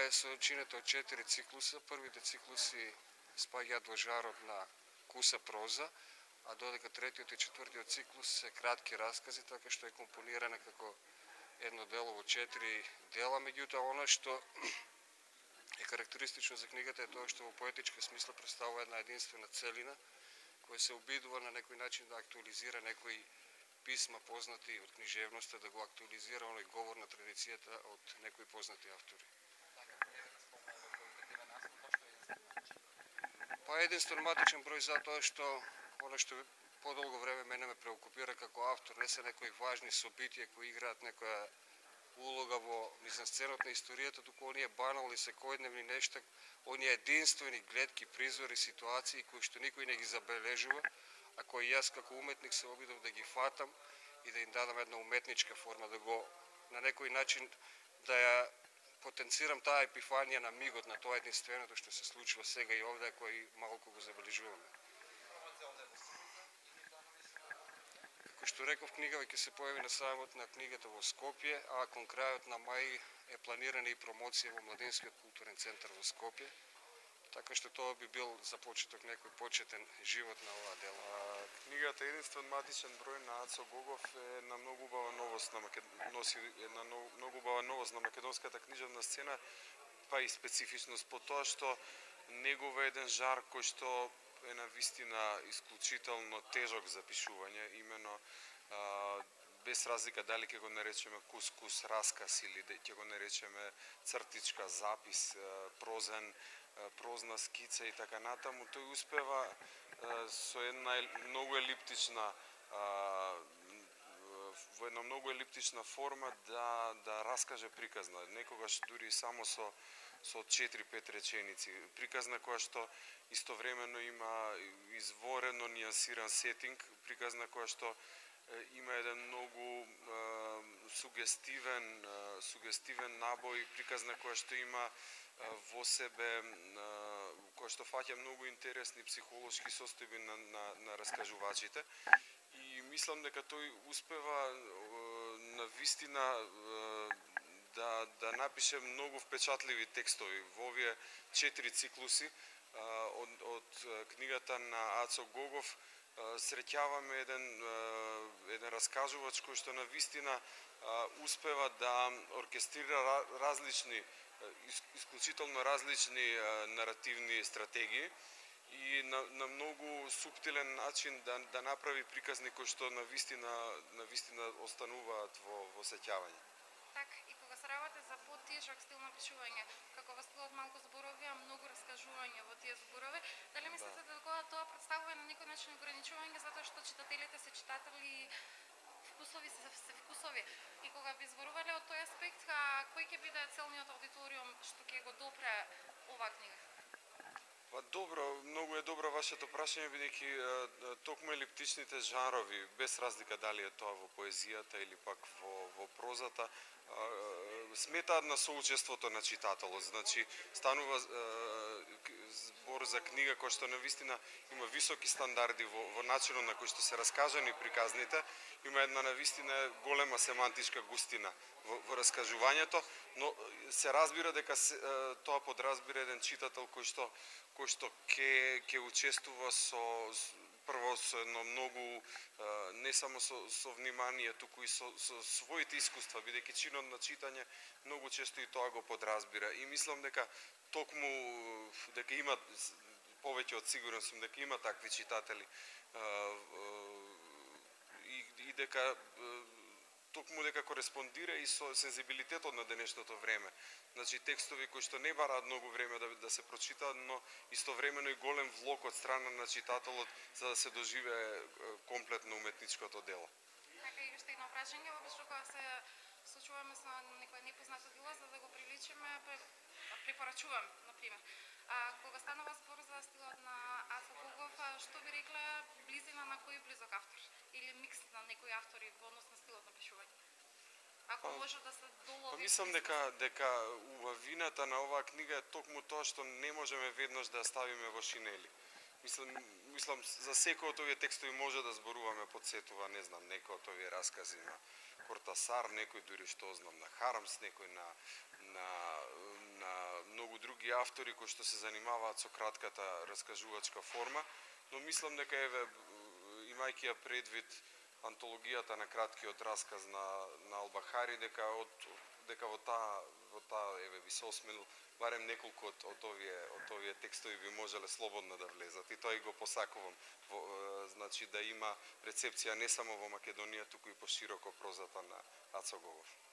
е сочинета од 4 циклуса. Првите циклуси спаѓаат во жарот на куса проза, а додека третиот и четвртиот циклус се кратки раскази, така што е компонирана како едно дело во 4 дела. Меѓутоа, она што е карактеристично за книгата е тоа што во поетичка смисла представува една единствена целина, која се обидува на некој начин да актуализира некои писма познати од книжевноста, да го актуализира оној говор на традицијата од некои познати автори. Па единствен матичен број затоа што она што подолго време мене ме преокупира како автор не се некои важни собитија кои играат некоја улога во мизансценот на историјата, туку оние банални секојдневни нешта, оние единствени гледки, призори, ситуации кои што никој не ги забележува, а кои јас како уметник се обидов да ги фатам и да им дадам една уметничка форма, да го на некој начин да ја потенцирам таа епифанија на мигот на тоа единственото што се случува сега и овде, кој малку го забележуваме. Како што реков, книгава ќе се појави на сајмот на книгата во Скопје, а кон крајот на мај е планирана и промоција во Младинскиот културен центар во Скопје, така што тоа би бил за почеток некој почетен живот на оваа дела. Книгата единствен матичен број на Ацо Гогов е една многу убава новост носи една многу убава новост на македонската книжевна сцена, па и специфичност по тоа што негова еден жар кој што е на вистина исклучително тежок за пишување, имено без разлика дали ќе го наречеме кус расказ или ќе го наречеме цртичка, запис, прозна скица и така натаму, тој успева со една многу елиптична во една многу елиптична форма да раскаже приказна, некогаш дури само со 4-5 реченици. Приказна која што истовремено има изворено нијансиран сетинг, приказна која што има еден многу сугестивен набој, приказна која што има во себе, која што фаќа многу интересни психолошки состојби на раскажувачите. И мислам дека тој успева на вистина да напише многу впечатливи текстови во овие 4 циклуси од книгата на Ацо Гогов. Среќаваме еден раскажувач кој што на вистина успева да оркестрира различни, исклучително различни наративни стратегии и на многу суптилен начин да направи приказни кои што на вистина остануваат во сеќавање. Така, и кога се работи за потежок стил на пишување, како во стилот малку зборови, а многу раскажување во тие зборови, дали мислите дека тоа представува на некој начин ограничување затоа што читателите се читатели, вкусови се вкусови, и кога би зборувале од тој аспект, кој ќе биде целниот аудиториум што ќе го допре оваа книга? Па добро, многу е добро вашето прашање, бидејќи токму елиптичните жанрови, без разлика дали е тоа во поезијата или пак во прозата, сметаат на соучеството на читателот. Значи, станува збор за книга која што навистина има високи стандарди во начинот на кој што се раскажани приказните, има една навистина голема семантичка густина во раскажувањето, но се разбира дека тоа подразбира еден читател кој што ќе учествува прво со едно многу, не само со внимание, туку и со своите искуства, бидејќи чинот на читање многу често и тоа го подразбира. И мислам дека токму дека има, повеќе од сигурен сум дека има такви читатели и дека токму дека кореспондира и со сензибилитетот на денешното време. Значи, текстови кои што не бараат многу време да се прочитаат, но истовремено и голем влог од страна на читателот за да се доживее комплетно уметничкото дело. Така, и уште едно прашање, обично кога се случуваме со некој непознато дело, за да го привлечеме, препорачувам, например. Кога станува збор за стилот на Ацо Гогов, што би рекле близина на кој близок автор? Или микс на некои автори во однос на стилот на пишување? Ако може да се долови... Мислам дека убавината на оваа книга е токму тоа што не можеме веднаш да ја ставиме во шинели. Мислам за секој од овие текстови може да зборуваме, подсетува, не знам, некој од овие раскази на Кортасар, некој дури што знам на Харамс, некој на други автори кои што се занимаваат со кратката раскажувачка форма, но мислам дека еве имајќи ја предвид антологијата на краткиот расказ на Албахари, дека во таа еве би се осмелил барем неколку од овие текстови би можеле слободно да влезат и тоа и го посакувам, значи да има рецепција не само во Македонија, туку и пошироко прозата на Ацо Гогов.